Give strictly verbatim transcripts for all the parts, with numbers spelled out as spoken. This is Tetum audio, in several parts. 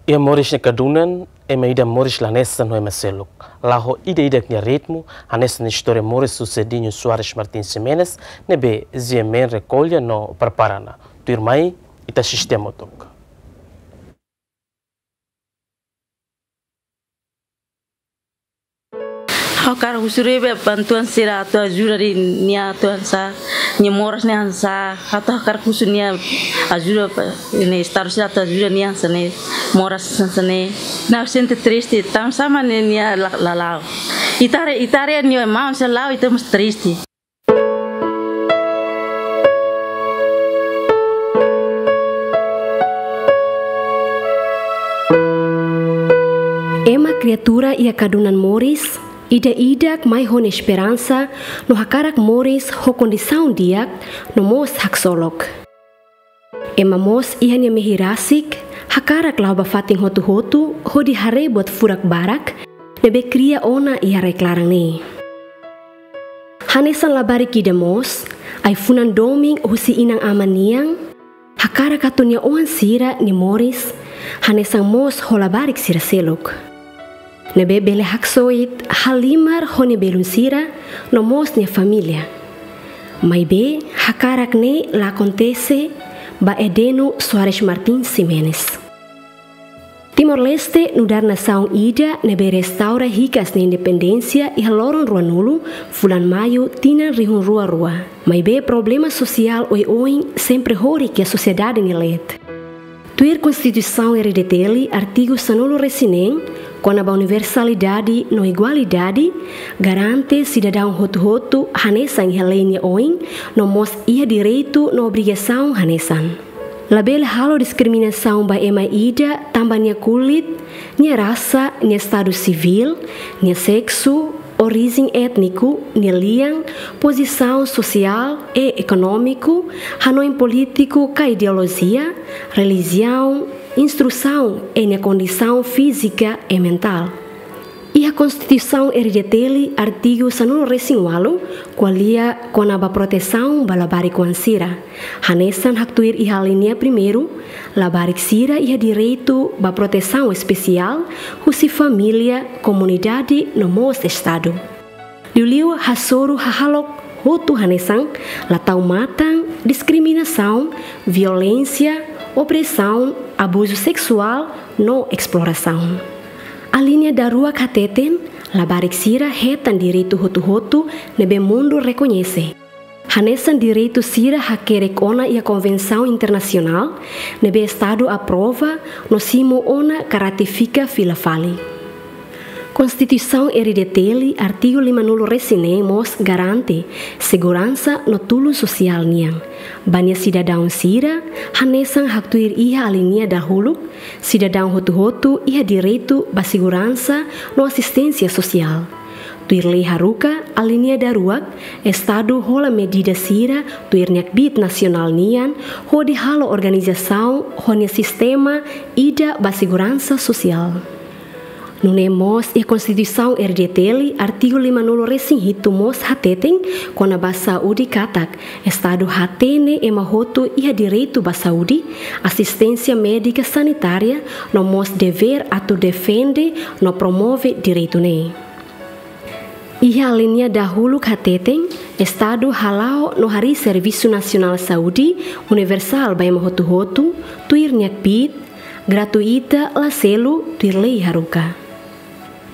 Iha moris nia kadunan, ema ida moris la hanesan ho ema seluk. La'o ida-idak nia ritmu, hanesan istória moris husi Edinho Soares Martins Ximenes, ne'ebé G M N rekolla no prepara ona. Tuirmai, ita asiste hamutuk. Ha'u hakarak husu liu ba bantuan sira atu ajuda nia atu hanesan, nia moras ne'e hanesan, atu hakarak husu nia ajuda ba, ne'e estadu sira atu ajuda nia hanesan ne'e moras hanesan ne'e. Ha'u sente triste, tanba sá mak ne'e nia la, la la'o. Ita haree, ita haree nia maun sira la'o, ita mós triste. Ema kriatura iha kadunan moris, ida-idak mai ho nia esperansa no hakarak moris ho kondisaun di'ak no mós haksolok. Ema mós iha nia mehi rasik, hakarak la'o ba fatin hotu-hotu hodi haree buat furak barak ne'ebé kria ona iha rai-klaran ne'e. Hanesan labarik ida mós, ai-funan domin husi inan-aman nian, hakarak atu nia oan sira nia moris hanesan mós ho labarik sira seluk. Ne'ebé bele haksoit, halimar ho nia belun sira no mós nia família. Maibé, hakarak ne'e la akontese ba Edeno Soares Martins Ximenes. Timor-Leste nu'udar nasaun ida ne'ebé restaura hikas nia independénsia iha loron ruanulu fulan Maiu tinan rihun rua rua. Maibé problema sosiál oioin sempre horik iha sosiedade nia leet. Tuir Konstituisaun R D T L artigu sanulu-resin-neen, kona-ba universalidade no igualdade, garante sidadaun hotu-hotu hanesan iha lei nia oin, no mós iha direitu no obrigasaun hanesan. Labele halo diskriminasaun ba ema ida tanba nia kulit, nia rasa, nia estadu sivíl, nia seksu, orijen étniku, nia lian, pozisaun sosiál i ekonómiku, hanoin polítiku ka ideolojia, relijiaun, instrusaun i nia kondisaun fízika i mentál. Iha Konstituisaun R D T L artigu sanulu-resin-ualu ko'alia kona-ba protesaun ba labarik-oan sira. Hanesan haktuir iha alínea primeiru, labarik sira iha direitu ba protesaun espesiál husi família, komunidade no mós estadu. Liuliu hasoru hahalok hotu hanesan la tau matan, diskriminasaun, violénsia, opresaun, abuzu seksuál no esplorasaun. Alínea daruak hateten, labarik sira hetan direitu hotu-hotu ne'ebé mundu rekoñese. Hanesan direitu sira hakerek ona iha konvensaun internasionál ne'ebé estadu aprova no simu ona ka ratifika fila fali. Konstituisaun R D T L artigu limanulu-resin-neen mós garante seguransa no tulun sosiál nian ba nia sidadaun sira, hanesan haktuir iha alínea dahuluk, sidadaun hotu-hotu iha direitu ba seguransa no asisténsia sosiál. Tuir lei haruka, alínea daruak, estadu hola medida sira tuir nia kbiit nasionál nian hodi halo organizasaun ho nia sistema ida ba seguransa sosiál. Nune'e mós iha Konstituisaun R D T L artigu limanulu-resin-hitu mós hateten kona-ba saúde katak, estadu hatene ema hotu iha direitu ba saúde, asisténsia médika sanitária no mós devér atu defende no promove direitu ne'e. Iha alínea dahuluk hateten, estadu hala'o no harii servisu nasionál saúde universál ba ema hotu-hotu, tuir nia kbiit, gratuita, la selu, tuir lei haruka.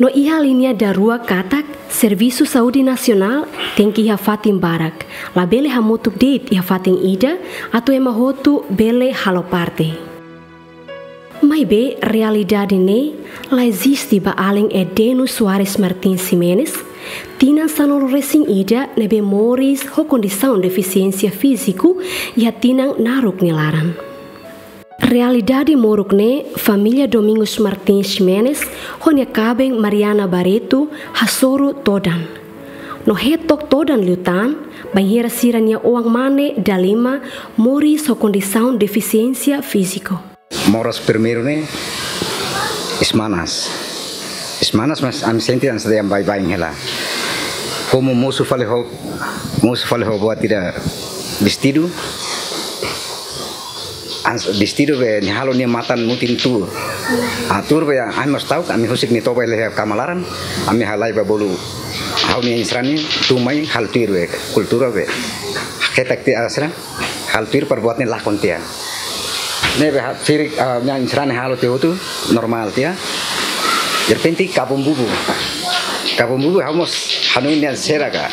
No iha alínea daruak katak, servisu saúde nasionál tenke iha fatin barak, labele hamutuk de'it iha fatin ida atu ema hotu bele halo parte. Maibé realidade ne'e la eziste ba alin Edeno Soares Martins Ximenes, tinan sanulu-resin-ida ne'ebé moris ho kondisaun defisiénsia fíziku iha tinan naruk nia laran. Realidade moruk ne'e família Domingos Martins Ximenes ho nia kaben Mariana Barreto hasoru todan. No hetok todan liután, bainhira sira-nia oan-mane dalima moris ho kondisaun defisiénsia fíziku. Moras primeiru ne'e, iis manas. Iis manas, mas ami sente hanesan dehan baibain hela. Komu mosu fali ho, mosu fali ho buat ida vestidu. Ans-, vestidu be nia halo nia matan mutin tuur. Ah, tuur be ami mós ta'uk, ami husik nia toba iha kama laran, ami halai ba bolu ha'u-nia insrani, tun mai halo tuir be kultura be. Ketak tiha asra, halo tuir para buat ne'e lakon tiha. Ne'ebé ha-, ferik, ah, nia insrani halo tiha hotu, normál tiha. Derrepente kabun bubu. Kabun bubu ha'u mós hanoin nia sira ka.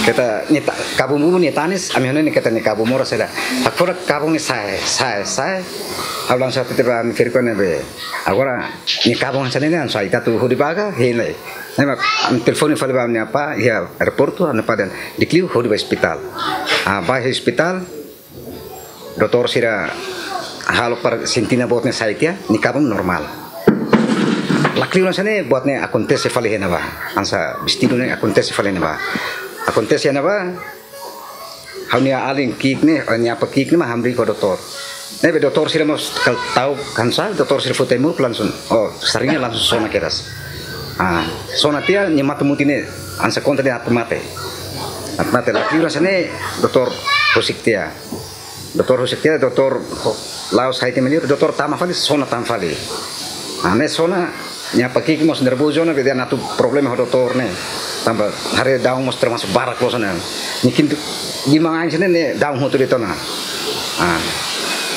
Keta nia ta-, kabun bubu nia tanis, ami hanoin keta nia kabun moras sira. Hakfodak kabun ne'e sa'e, sa'e, sa'e. Ha'u langsung hatete ba ami ferik ne'ebé. Agora nia kabun hanesan ne'e, langsung ita atu hodi ba ka, hein lai. Ne'e mak ami telefone fali ba ami-nia apá iha aeroportu, ami-nia apá dehan di'ak liu hodi ba ospitál. Ah, ba ospitál, doutór sira halo para sente ona buat ne'e sa'e tiha, nia kabun normál. Lakleur hanesan ne'e buat ne'e akontese fali iha ne'ebá. Hanesan vestidu ne'e akontese fali iha ne'ebá. Akontese iha ne'ebá, ha'u-nia alin ki'ik ne'e, eh, nia apá ki'ik ne'e mak hamriik ho doutór. Ne'ebé doutór sira mós kala ta'uk hanesan, doutór sira foti ai-moruk langsung. Oh, saringa langsung sona kedas. Ah, sona tiha nia matan mutin ne'e, hanesan konta dehan atu mate. Atu mate lakleur hanesan ne'e, doutór husik tiha. Doutór husik tiha, doutór la'o sai tiha mai liur, doutór tama fali, sona tan fali. Ah, ne'e sona, nia apá ki'ik mós nervozu ona, be dehan atu problema ho doutór ne'e. Tanba haree daun mós termasuk barak loos ona. Nia kintu, di mangain sini ne'e daun hotu de'it ona. Ah,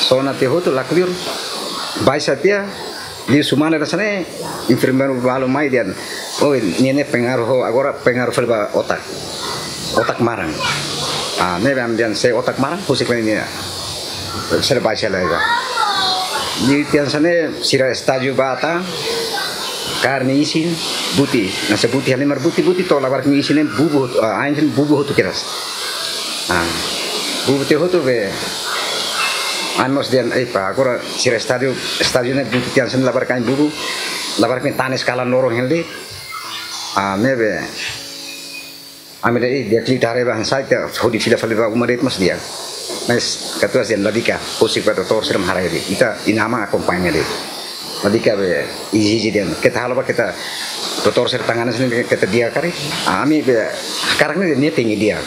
sona tiha hotu, lakleur, baixa tiha, liu semana hanesan ne'e, enfermeiru balu mai dehan, "Oh, nia ne'e pengaruh, agora pengaruh fali ba otak. Otak maran." Ah, ne'ebé ami dehan se otak maran, husik fali nia. Sira baixa lai ba. Liu tiha hanesan ne'e, sira estájiu ba atan, kaer nia isin, buti. Hanesan buti, halimar buti, buti to'o labarik nia isin ne'e bubu, ah, ain bubu hotu kedas. Ah, bubu tiha hotu be. Ami mós dehan, "Ei, pá, agora sira estájiu, estájiu ne'e buti tiha hanesan ne'e labarik ain bubu, labarik nia tanis kalan loron hela de'it." Ah, ne'ebé. Ami dehan, "Ih, di'ak liu ita haree ba hanesan ita hodi fila fali ba uma de'it mós di'ak." Mas katuas dehan, "La di'ak ka, husik ba doutór sira mak haree de'it. Ita inan-aman akompaña de'it. La di'ak ka be ezije de'it. Keta halo ba keta doutór sira tangana sini keta di'ak karik." Ami be, hakarak ne'e nia tenke di'ak.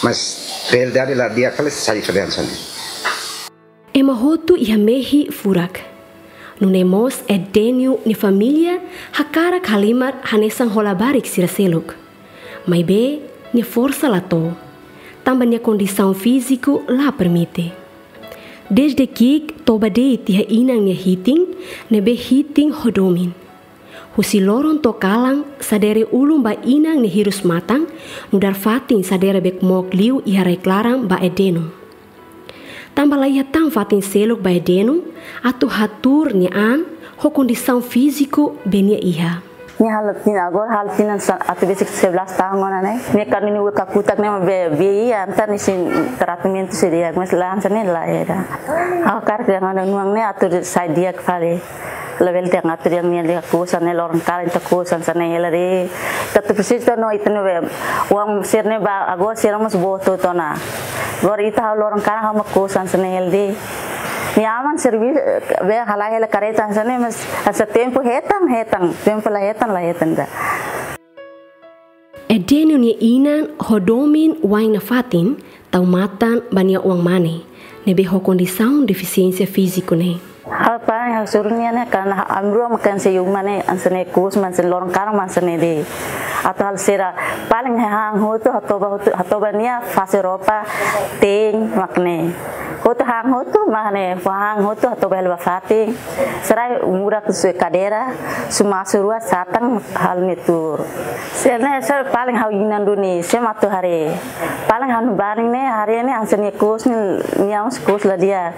Mas realidade la di'ak kala sai fali hanesan ne'e. Ema hotu iha mehi furak. Nune'e mós Edénio nia família hakarak halimar hanesan ho labarik sira seluk. Maibé nia forsa la to'o. Tanba nia kondisaun fíziku la permite. Dezde ki'ik toba de'it iha inan nia hitin, ne'ebé hitin ho domin. Husi loron to'o kalan, sadere ulun ba inan nia hirus-matan, nu'udar fatin sadere bekmok liu iha rai-klaran ba Edénio. Tanba la iha tan fatin seluk ba Edénio, atu hatuur nia an, ho kondisaun fíziku be nia iha. Nia halo tinan, agora halo tinan sa-, atu besik sebelas tahun ona ne'e. Nia kan nia ue kakutak ne'e be, be iha entaun nia sei tratamentu sei di'ak, mas la hanesan ne'e la iha. Ha'u hakarak dehan ona nuan ne'e atu sai di'ak fali. Labele dehan atu dehan nia lia kusan ne'e loron kalan ita kusan hanesan ne'e hela de'it. Ita atu presiza no ita ne'ebé. Oan sira ne'e ba agora sira mós boot ona. Agora ita ha'u loron kalan ha'u mak kusan hanesan ne'e hela de'it. Nia aman servis be halai hela kareta hanesan ne'e mas hanesan tempu hetan, hetan. Tempu la hetan, la hetan ida. Edénio nia inan ho domin wa'in nafatin, tau matan ba nia oan-mane, ne'ebé ho kondisaun defisiénsia fíziku ne'e. Ha'u paling ha'u hasoru nia ne'e karena ha-, ami rua mak hanesan uma ne'e, hanesan ne'e kuus, hanesan loron kalan mak hanesan ne'e de'it. Atu halo sira paling hahán hotu, hatoba hotu, hatoba nia fase roupa, te'in, mak ne'e. Hotu hahán hotu, mak ne'e, hahán hotu, hatoba hela ba fatin. Sira murak sue kadeira, sumasu rua satan halo ne'e tuur. Sira ne'e, sira paling ha'u inan duni, sira mak atu haree. Paling ha'u-nia banin ne'e, haree ne'e, hanesan nia kuus ne'e, nia mós kuus la di'ak.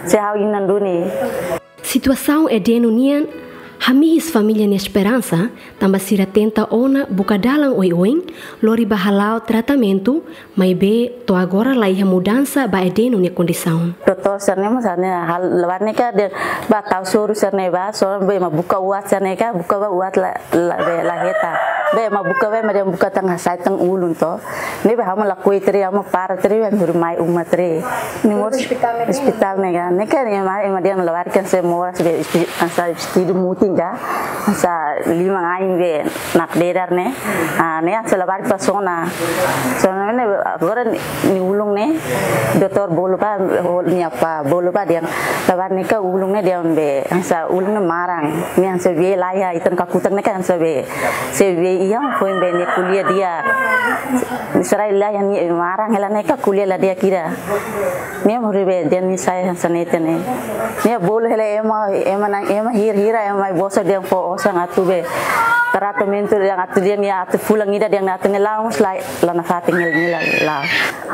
Sira ha'u inan duni. Situasaun Edénio nian, hamihis família nia esperansa, tanba sira tenta ona buka dalan oioin, lori ba hala'o tratamentu, maibé to'o agora la iha mudansa ba Edénio nia kondisaun. Doutór sira ne'e mós hanesan ne'e hal lawan ne'e ka dehan ba tau soru sira ne'e ba, soru be ema buka uat sira ne'e ka, buka ba uat la, la, be la hetan. Be ema buka be, ema dehan buka tan hasai tan ulun to. Ne'ebé ha'u mak lakohi tiha, ha'u mak para tiha, ha'u mak mai uma tiha. Ne'e mós ospitál ne'e ka? Ospitál ne'e ka. Ne'e ka ema, ema dehan labarik hanesan moras be, espi-, hanesan vestidu mutin ka. Hanesan Lima ain be nakdedar ne'e. Ah, ne'e hanesan labarik ba sona. Sona ne'e agora nia ulun ne'e. Doutór bolu ba, nia apá bolu ba dehan. Labarik ne'e ka ulun ne'e dehan be. Hanesan ulun ne'e maran. Ne'e hanesan be laiha ita-nia kakutak ne'e ka hanesan be. Se be iha foin be nia ko'alia di'ak. Sira laiha nia maran hela ne'e ka ko'alia la di'ak ida. Nia moris be dehan nia sai hanesan ne'e tene. Nia bolu hela ema, ema na'in, ema hira-hira, ema bosok dehan fó osan atu be. Tratamentu dehan atu dehan nia atu fulan ida dehan atu ne'e la'o mós la, la nafatin hela ne'e la, la'o.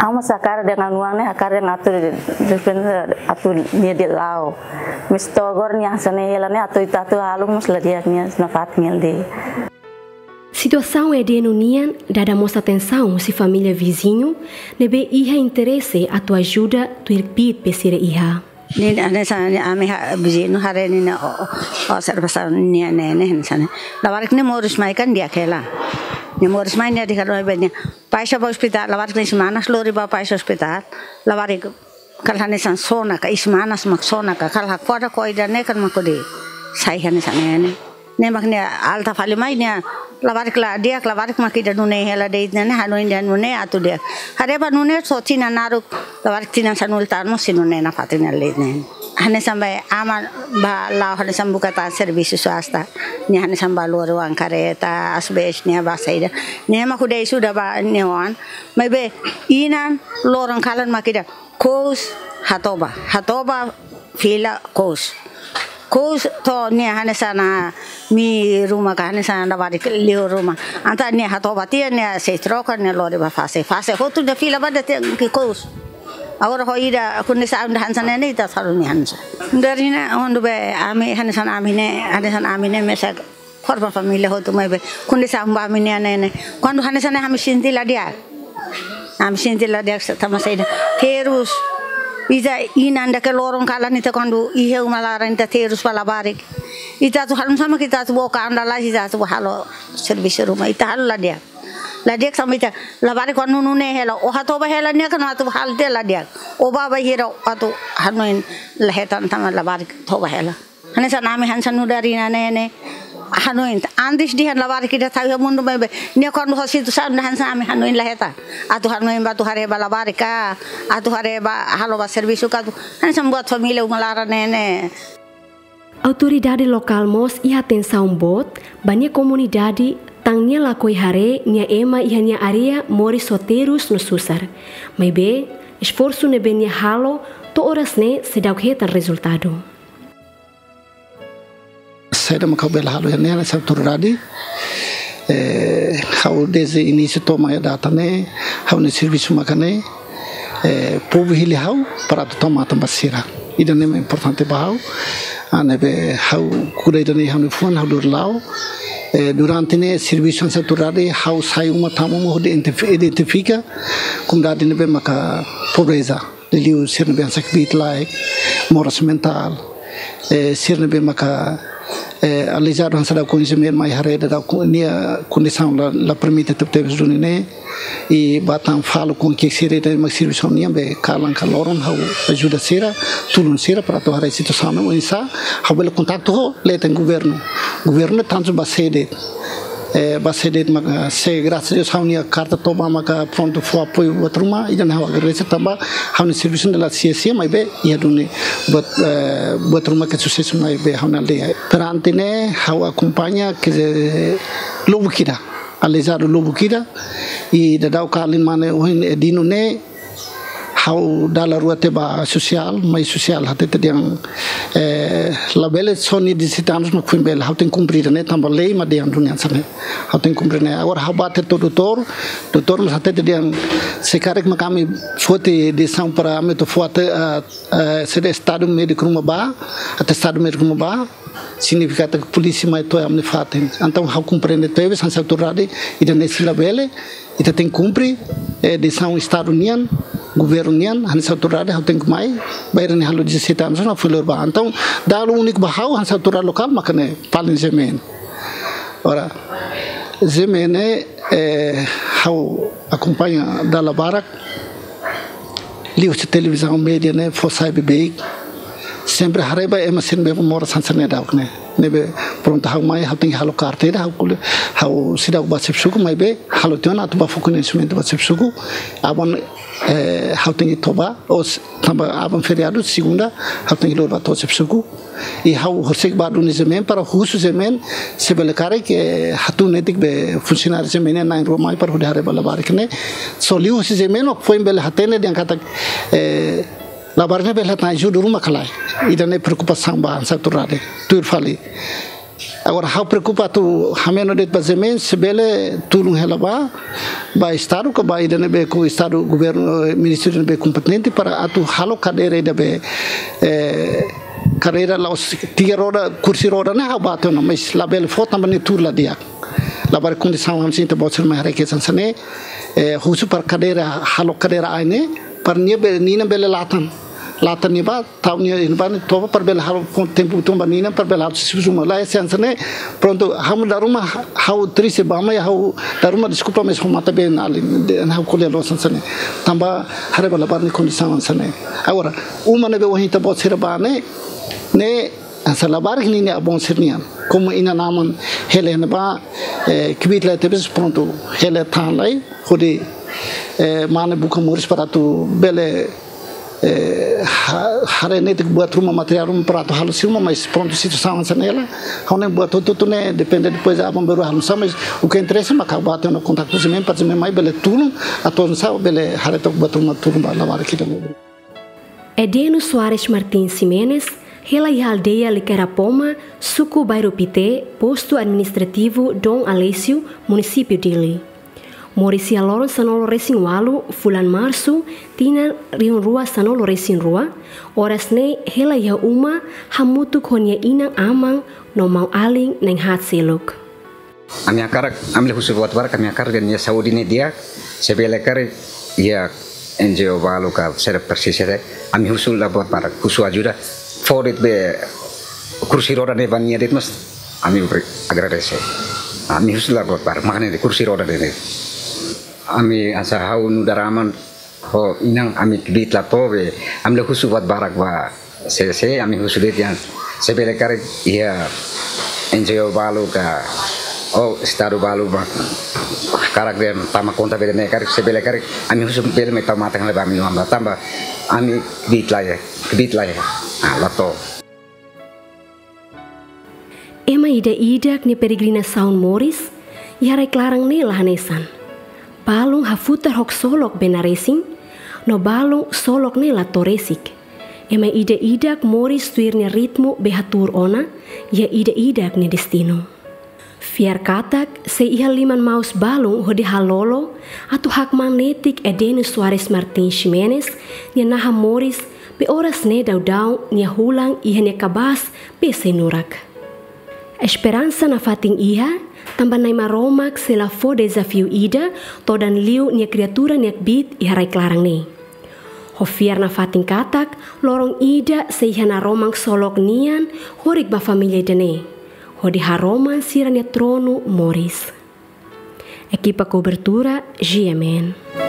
Ha'u mós hakarak dehan anu ne'e, hakarak dehan atu de, de, atu nia dehan la'o. Maibé to'o agora nia hanesan ne'e hela ne'e atu ita atu halo mós la di'ak, nia nafatin hela de'it. Situasaun ida-ne'e nian dada mós atensaun husi família viziñu ne'ebé iha interese atu ajuda tuir kbiit be sira iha. Nia hanesan ami-nia viziñu haree nia o, o, observasaun nia ne'e ne'e hanesan ne'e. Labarik nia moris mai kan di'ak hela. Nia moris mai nia dehan karik be nia baixa ba ospitál, labarik nia isin-manas lori ba baixa ospitál. Labarik kala hanesan sona ka isin-manas mak sona ka kala hakfodak ho ida-ne'e kan mak hodi sai hanesan ne'e ne'e. Ne'e mak nia alta fali mai nia labarik la di'ak, labarik mak ida nune'e hela de'it ne'e ne'e, hanoin dehan nune'e atu di'ak. Haree ba nune'e só tinan naruk, labarik tinan sanulu tan mós sei nune'e nafatin hela de'it ne'e. Hanesan ba aman ba la'o hanesan buka tan servisu swasta. Nia hanesan ba lori oan kareta, asbes nia ba saida. Nia mak hodi suda ba nia oan. Maibé inan loron kalan mak ida. Kous hatoba, hatoba fila kous. Kous to'o nia hanesan ami ruma ka hanesan labarik liu ruma. Entaun nia hatoba tiha nia sei troka nia lori ba fase. Fase hotu nia fila ba de'it tiha kous. Agora ho ida kondisaun ida hanesan ne'e ita halo nia hanesan. Dari ne'e ondu be ami hanesan ami ne'e, hanesan ami ne'e mesak korban família hotu maibé kondisaun ba ami ne'e ne'e ne'e. Kuandu hanesan ne'e ami sente la di'ak. Ami sente la di'ak tanba saida. Terus ita inan dake loron kalan ita kuandu iha uma laran ita terus ba labarik. Ita atu halo sama ita atu boka anda la ita atu halo servisu ruma ita halo la di'ak. La di'ak sama ita labarik kuandu nune'e hela o hatoba hela nia kan atu halo tiha la di'ak. O bá ba hira atu hanoin la hetan tanba labarik toba hela. Hanesan ami hanesan nu'udar inan ne'e ne'e. Hanoin, antes dehan labarik ida tau iha mundu maibé. Nia kuandu ho situasaun ida hanesan ami hanoin la hetan. Atu hanoin ba atu haree ba labarik ka, atu haree ba halo ba servisu ka atu. Hanesan buat família uma laran ne'e ne'e. Autoridade lokál mós iha atensaun boot ba nia komunidade, tanba nia lakohi haree nia ema iha nia área moris ho terus no susar. Maibé, esforsu ne'ebé nia halo to'o oras ne'e seidauk hetan rezultadu. Saida mak ha'u bele halo iha ne'e hanesan autoridade. Eh, ha'u dezde inísiu to'o mai data ne'e, ha'u-nia servisu maka ne'e, eh, povu hili ha'u para atu tau matan ba sira. Ida-ne'e mak importante ba ha'u. Ah, ne'ebé ha'u kuda ida-ne'e ha'u-nia fuan ha'u lori la'o. Eh, durante ne'e servisu hanesan autoridade ha'u sai uma tan uma hodi identifi-, identifika komunidade ne'ebé maka pobreza. Liuliu sira ne'ebé hanesan kbiit-laek, moras mentál, eh, sira ne'ebé maka, eh, aleijadu hanesan daudaun konsume mai haree daudaun ku-, nia kondisaun la, la permite tebetebes duni ne'e, i ba tan fali kon ke sira ida mak servisu nian be kalan ka loron ha'u ajuda sira, tulun sira para atu haree situasaun ne'e oinsá, ha'u bele kontaktu ho leten governu. Governu tantu ba sede. Eh, ba sede maka, eh, se grasas a Deus ha'u-nia karta toba maka prontu fó apoiu buat ruma, ida-ne'e ha'u agradese tanba ha'u-nia servisu ne'e la sia-sia maibé iha duni buat, eh, buat ruma ke susesu maibé ha'u-nia aldeia. Perante ne'e ha'u akompaña ke lubuk ida, aleijadu lubuk ida, i daudaun kalan mane ohin, eh, Dino ne'e, ha'u dala rua tiha ba sosiál, mai sosiál hatete dehan, eh, labele só nia dezassete anos mak foin bele, ha'u tenke kumpre ne'e tanba lei mak dehan duni hanesan ne'e. Ha'u tenke kumpre ne'e. Agora ha'u bá tiha to'o doutór, doutór mós hatete dehan se karik mak ami foti desizaun para ami atu fó ate, ah, eh, sede atestadu médiku ruma bá, atestadu médiku ruma bá, signifika katak polísia mai to'o ami-nia fatin. Entaun ha'u komprende tebes hanesan autoridade, ida-ne'e sei labele, ita tenke kumpre, eh, desizaun Estadu nian, governu nian, hanesan autoridade, ha'u tenke mai, bainhira ne'e halo dezassete anos, la foin lori bá. Entaun, dala úniku ba ha'u, hanesan autoridade lokál, maka ne'e, palin G M N. Ora, G M N, eh, ha'u akompaña dala barak, liuhusi televizaun média ne'e, fó sai beibeik, Sempre haree ba ema sira ne'ebé moras hanesan ne'e daudaun ne'e. Ne'ebé prontu ha'u mai, ha'u tenke halo karta ida, ha'u ko'alia, ha'u seidauk bá xefe suku, maibé halo tiha ona atu bá fó koñesimentu ba xefe suku. Aban, eh, ha'u tenke toba, ou s-, tanba aban feriadu, segunda, ha'u tenke lori bá to'o xefe suku. I ha'u horiseik bá duni imi-nia email para husu imi-nia email, se bele karik, eh, hatún netik be funsionáriu imi-nia email na'in rua mai para hodi haree ba labarik ne'e. Só liuhusi imi-nia email, no foin bele hatene dehan katak, eh, labarik ne'e bele hetan ajuda ruma ka lae. Ida-ne'e preokupasaun ba hanesan atu haree. Tuir fali. Agora, ha'u preokupa atu hameno de'it ba imi-nia email, se bele tulun hela ba, ba estadu, ka ba ida ne'ebé ho estadu governu, eh, ministériu ne'ebé kompetente para atu halo kadeira ida be, eh, kadeira la'ós tiga roda, kursi roda ne'e ha'u bá tiha ona, mas labele fó tanba nia tuur la di'ak. Labarik kondisaun hanesan ita-boot sira mai haree hanesan ne'e, eh, husu para kadeira, halo kadeira ain ne'e, para nia be, nia bele latan. Latan nia bá, tau nia iha ne'ebá ne'e toba para bele halo tempu tun ba nia para bele halo xefe suku ruma. Lae, hanesan ne'e, prontu, ha'u dala ruma, ha'u triste ba, maibé ha'u dala ruma deskulpa, mas ha'u matan-been alin, de, ha'u ko'alia loos hanesan ne'e. Tanba haree ba labarik nia kondisaun hanesan ne'e. Agora, uma ne'ebé ohin ita-boot sira bá ne'e, ne'e hanesan labarik ne'e nia avó sira-nian. Komu inan-aman hela iha ne'ebá, eh, kbiit lai tebes prontu hela tan lai, hodi, eh, mane buka moris para atu bele, eh, ha-, haree netik buat ruma materiál ruma para atu halo sira ruma, mas prontu situasaun hanesan ne'e hela. Ha'u-nia buat hotu-hotu ne'e depende depois aban-bainrua halo oinsá, mas o que interessa mak ha'u bá tiha ona kontaktu imi-nia email, para imi-nia email bele tulun, atu oinsá bele haree took buat ruma tulun ba labarik ida-ne'e. Edeno Soares Martins Ximenes, hela iha aldeia Likarapoma, suku Bairru Pité, postu administrativu Dom Aleixo, munisípiu Dili. Moris iha loron sanulu-resin-ualu, fulan Marsu, tinan rihun rua sanulu-resin-rua, oras ne'e hela iha uma, hamutuk ho nia inan-aman, no maun-alin na'in-haat seluk. Ami hakarak, ami la husu buat barak, ami hakarak dehan nia saúde ne'e di'ak, se bele karik iha N G O balu ka sira presiza, ami husu la buat barak, husu ajuda, fó de'it be kursi roda ne'e ba nia de'it mós, ami bri-, agradese. Ami husu la buat barak, mak ne'e de'it kursi roda ne'e de'it. Ami hanesan ha'u nu'udar aman, ho inan ami kbiit la to'o be, ami la husu buat barak ba sira, ami husu de'it dehan, se bele karik iha N G O balu ka, ou estadu balu ba, karik dehan tama konta be ne'e karik, se bele karik, ami husu bele mai tau matan hela ba ami-nia oan ba tanba, ami kbiit la iha, kbiit la iha, ah, la to'o. Ema ida-idak nia peregrinasaun moris iha rai-klaran ne'e la hanesan. Balun hafutar ho ksolok be naresin, no balun ksolok ne'e la to'o resik. Ema ida-idak moris tuir nia ritmu be hatuur ona, iha ida-idak nia destinu. Fiar katak, sei iha liman maus balun hodi halolo, atu hakmaan netik Edeno Soares Martins Ximenes, nia naha moris, be oras ne'e daudaun nia hulan iha nia kabaas be sei nurak. Esperansa nafatin iha, tanba Na'i Maromak sei la fó dezafiu ida, todan liu nia kriatura nia kbiit iha rai-klaran ne'e. Ho fiar nafatin katak, loron ida sei iha naroman ksolok nian, horik ba família ida-ne'e. Hodi haroman sira-nia tronu moris. Ekipa kobertura, G M N.